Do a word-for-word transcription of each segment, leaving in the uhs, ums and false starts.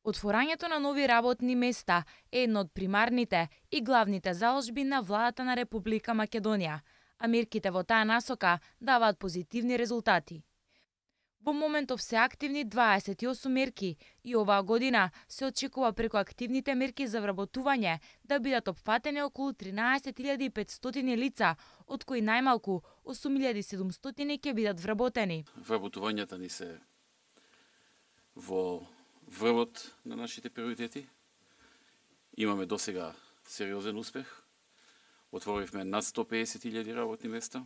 Отворањето на нови работни места е едно од примарните и главните заложби на владата на Република Македонија, а мерките во таа насока даваат позитивни резултати. Во моментов се активни дваесет и осум мерки и оваа година се очекува преку активните мерки за вработување да бидат опфатени околу тринаесет илјади и петстотини лица, од кои најмалку осум илјади и седумстотини ќе бидат вработени. Вработувањата ни се во врвот на нашите приоритети. Имаме досега сериозен успех. Отворивме над сто педесет илјади работни места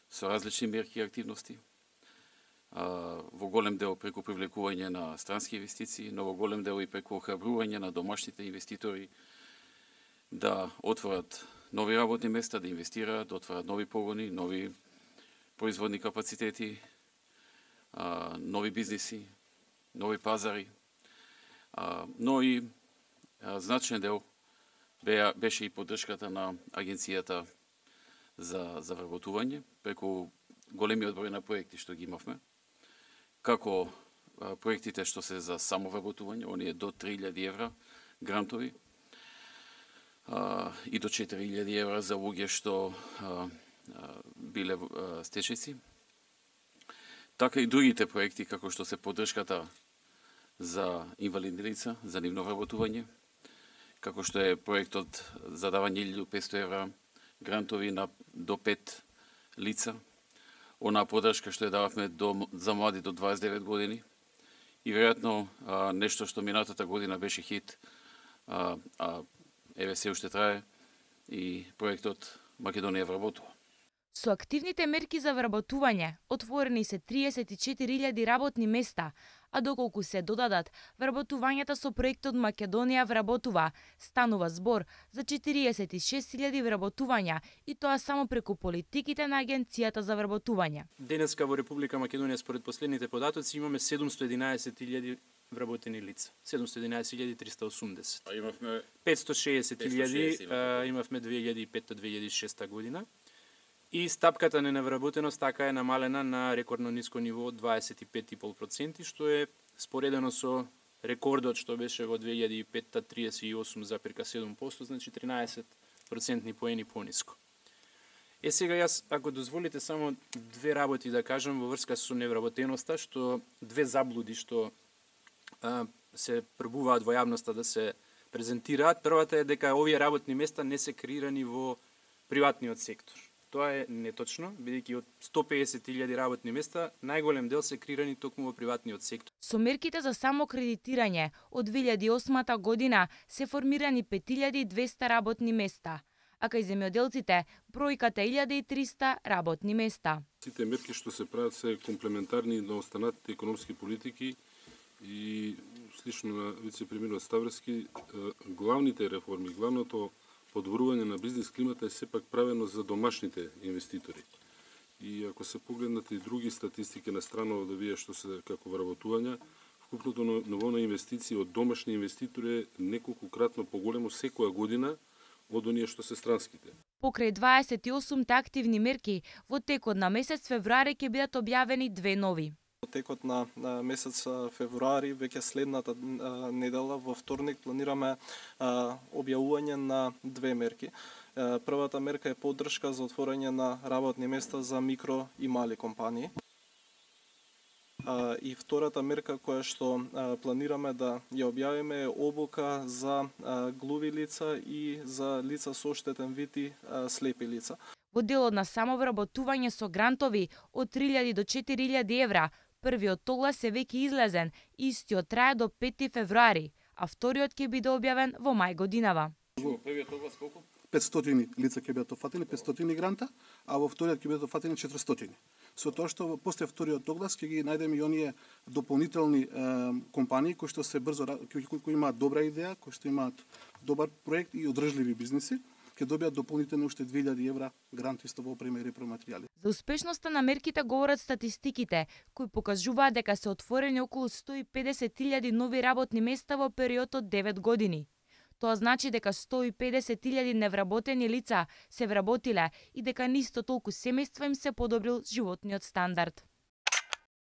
со различни мерки и активности. Во голем дел преку привлекување на странски инвестиции, но во голем дел и преку охрабрување на домашните инвеститори да отворат нови работни места, да инвестираат, да отворат нови погони, нови производни капацитети, нови бизниси, нови пазари, но и значаен дел беше и поддршката на Агенцијата за, за вработување, преку големиот број на проекти што ги имавме, како проектите што се за самовработување, оние до три илјади евра грантови, и до четири илјади евра за луѓе што биле стечајци, така и другите проекти, како што се поддршката за инвалидни лица, за нивно вработување, како што е проектот за давање илјаду и петстотини евра грантови на до пет лица, онаа поддршка што ја дававме до, за млади до дваесет и девет години и веројатно нешто што минатата година беше хит, а, а еве се уште трае и проектот Македонија вработува. Со активните мерки за вработување отворени се триесет и четири илјади работни места, а доколку се додадат вработувањата со проектот Македонија вработува, станува збор за четириесет и шест илјади вработувања и тоа само преку политиките на Агенцијата за вработување. Денеска во Република Македонија според последните податоци имаме седумстотини и единаесет илјади вработени лица. седумстотини и единаесет илјади триста и осумдесет. А имавме петстотини и шеесет илјади имавме две илјади и петта до две илјади и шеста година. И стапката на невработеност така е намалена на рекордно ниско ниво од дваесет и пет и пет проценти, што е споредено со рекордот што беше во две илјади и петта триесет и осум запирка седум проценти, значи тринаесет процентни поени пониско. Е сега јас, ако дозволите, само две работи да кажам во врска со невработеноста, што две заблуди што а, се пробуваат во јавноста да се презентираат. Првата е дека овие работни места не се креирани во приватниот сектор. Тоа е неточно, бидејќи од сто педесет илјади работни места, најголем дел се креирани токму во приватниот сектор. Со мерките за самокредитирање од две илјади и осма година се формирани пет илјади и двеста работни места, а кај земјоделците бројката е илјада и триста работни места. Сите мерки што се прават се комплементарни на останатите економски политики и слично на вице-премиерот Ставровски, главните реформи, главното подобрување на бизнис климата е сепак правено за домашните инвеститори. И ако се погледнат и други статистики на страна да вие што се како вработувања, вкупното ниво на инвестиции од домашни инвеститори е неколкократно поголемо секоја година од оние што се странските. Покрај дваесет и осумте активни мерки, во текот на месец февруари ќе бидат објавени две нови. Во текот на, на месец февруари, веќе следната а, недела, во вторник, планираме а, објавување на две мерки. А, првата мерка е поддршка за отворање на работни места за микро и мали компании. А, и втората мерка која што а, планираме да ја објавиме е обука за а, глуви лица и за лица со оштетен вид и а, слепи лица. Во делот на самовработување со грантови од три илјади до четири илјади евра, првиот оглас е веќе излезен, истиот трае до пети февруари, а вториот ќе биде објавен во мај годинава. Првиот оглас колку? петстотини лица ќе бидат офатени, петстотини гранта, а во вториот ќе бидат офатени четиристотини. Со тоа што после вториот оглас ќе ги најдеме и оние дополнителни е, компании кои што се брзо кои, кои имаат добра идеја, кои што имаат добар проект и одржливи бизниси, ќе добијат дополнително уште две илјади евра грант исто во опрема и репроматеријали. За успешноста на мерките говорат статистиките, кои покажуваат дека се отворени околу сто и педесет илјади нови работни места во период од девет години. Тоа значи дека сто и педесет илјади невработени лица се вработиле и дека нисто толку семејства им се подобрил животниот стандард.